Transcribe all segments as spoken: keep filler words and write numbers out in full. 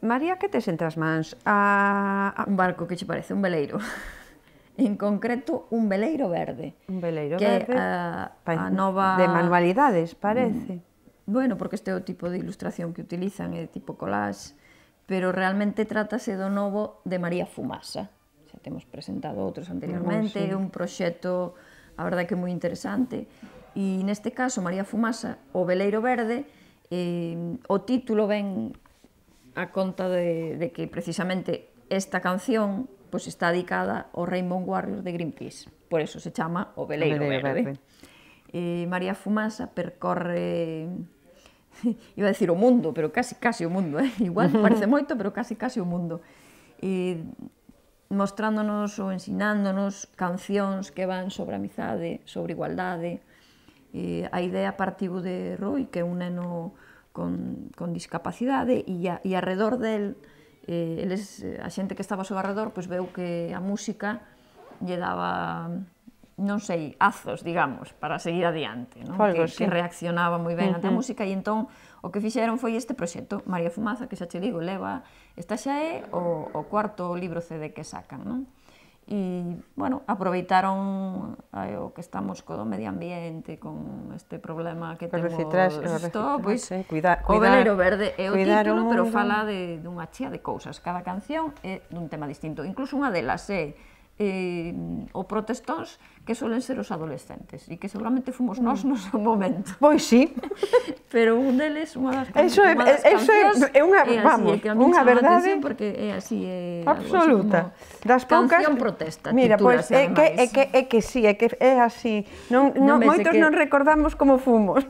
María, que tes entre as mans? Un barco, que che parece? Un veleiro. En concreto, un veleiro verde. Un veleiro verde, de manualidades, parece. Bueno, porque este é o tipo de ilustración que utilizan, é tipo collage, pero realmente trátase do novo de María Fumasa. Xa temos presentado outros anteriormente, é un proxecto, a verdade que é moi interesante, e neste caso, María Fumasa, o veleiro verde, o título ven a conta de que precisamente esta canción está dedicada ao Rainbow Warrior de Greenpeace, por eso se chama o veleiro verde. María Fumasa percorre, iba a decir o mundo, pero casi casi o mundo, igual parece moito, pero casi casi o mundo, mostrándonos ou ensinándonos cancións que van sobre a amizade, sobre igualdade. A idea partiu de Rui, que é un neno con discapacidade, e arredor del, a xente que estaba ao seu arredor veu que a música lle daba, non sei, azos, digamos, para seguir adiante, que reaccionaba moi ben ante a música, e entón o que fixeron foi este proxecto, María Fumasa, que xa che digo, leva, esta xa é o cuarto libro C D que sacan, non? E, bueno, aproveitaron o que estamos co do medio ambiente, con este problema que temos isto, pois, o veleiro verde é o título, pero fala dunha chea de cousas. Cada canción é dun tema distinto. Incluso unha delas é o protestóns que suelen ser os adolescentes e que seguramente fomos nós no seu momento. Pois sí. Pero un deles, unha das cancións é unha, vamos, unha verdade absoluta. Canción protesta, titúlase ademais. É que sí, é que é así. Moitos non recordamos como fomos.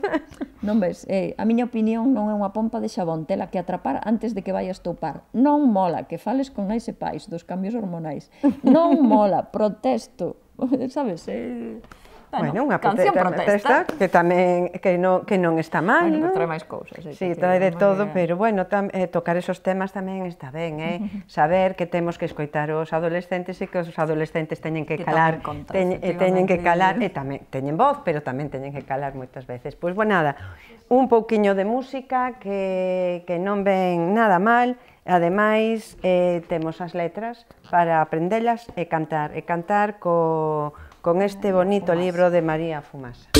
Non ves, a miña opinión non é unha pompa de xabón, tela que atrapar antes de que vayas topar. Non mola que fales con nais e pais dos cambios hormonais. Non mola, protesto. Sabes? Bueno, unha protesta que tamén que non está mal, non? Trae máis cousas. Si, trae de todo, pero, bueno, tocar esos temas tamén está ben, eh? Saber que temos que escoitar os adolescentes e que os adolescentes teñen que calar, teñen que calar, e tamén teñen voz, pero tamén teñen que calar moitas veces. Pois, bueno, nada, un pouquiño de música que non ven nada mal. Ademais, temos as letras para aprendelas e cantar, e cantar con este bonito libro de María Fumasa.